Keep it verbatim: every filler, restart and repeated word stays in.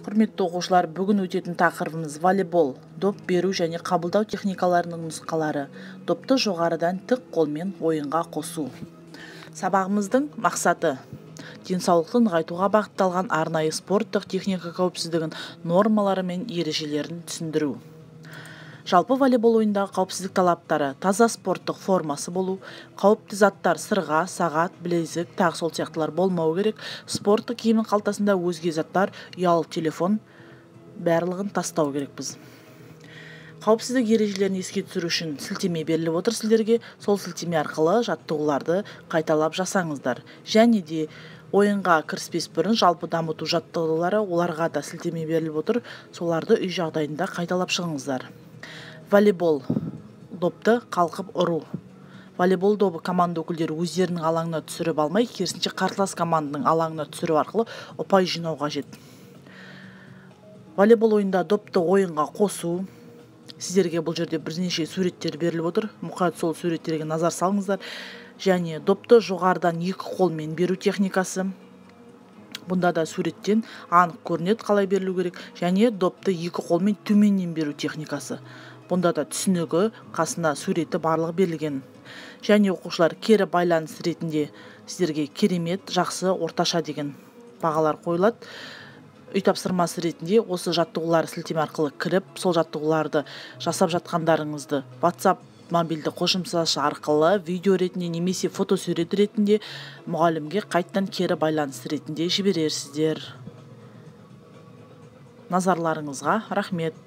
Құрметті оқушылар, бүгін өтетін тақырыбымыз волейбол, доп беру және қабылдау техникаларының нұсқалары, допты жоғарыдан тік қолмен ойынға қосу. Сабағымыздың мақсаты денсаулықты нығайтуға бағытталған арнайы спорттық техника қауіпсіздігін нормалары мен ережелерін түсіндіру. Жалпы волейбол ойындағы қауіпсіздік талаптары: таза спорттық формасы болу, қауіпті заттар сырға, сағат, білезік, тағы сол сияқтылар болмау керек, спорттық киімнің қалтасында өзге заттар, ұялы телефон барлығын тастау керекпіз. Қауіпсіздік ережелерін еске түсіру үшін сілтеме беріліп отыр сіздерге, сол сілтеме арқылы жаттығуларды қайталап жасаңыздар. Және де ойынға кіріспес бұрын жалпы дамыту жаттығулары, оларға да сілтеме беріліп отыр, соларды үй жағдайында қайталап шығыңыздар. Волейбол допты қалқып ұру. Волейбол добы команда өкілдері өздерінің алаңына түсіріп алмай, керісінше қарсылас команданың алаңына түсіру арқылы ұпай жинау қажет. Волейбол ойында допты ойынға қосу. Сіздерге бұл жерде бірнеше суреттер беріліп отыр. Мұқият сол суреттерге назар салыңыздар. Және допты жоғарыдан екі қолмен беру техникасы. Бұнда да суреттен анық көрінеді қалай берілу керек. Және допты екі қолмен төменнен беру техникасы. Бұнда да түсінігі, қасына суреті барлығы берілген. Және оқушылар кері байланыс ретінде сіздерге керемет, жақсы, орташа деген бағалар қойылады. Үй тапсырмасы ретінде осы жаттығулар сілтеме арқылы кіріп, сол жаттығуларды жасап жатқандарыңызды WhatsApp мобильді қосымшасы арқылы видео ретінде немесе фотосурет ретінде мұғалімге қайттан кері байланыс ретінде жіберерсіздер. Назарларыңызға рахмет.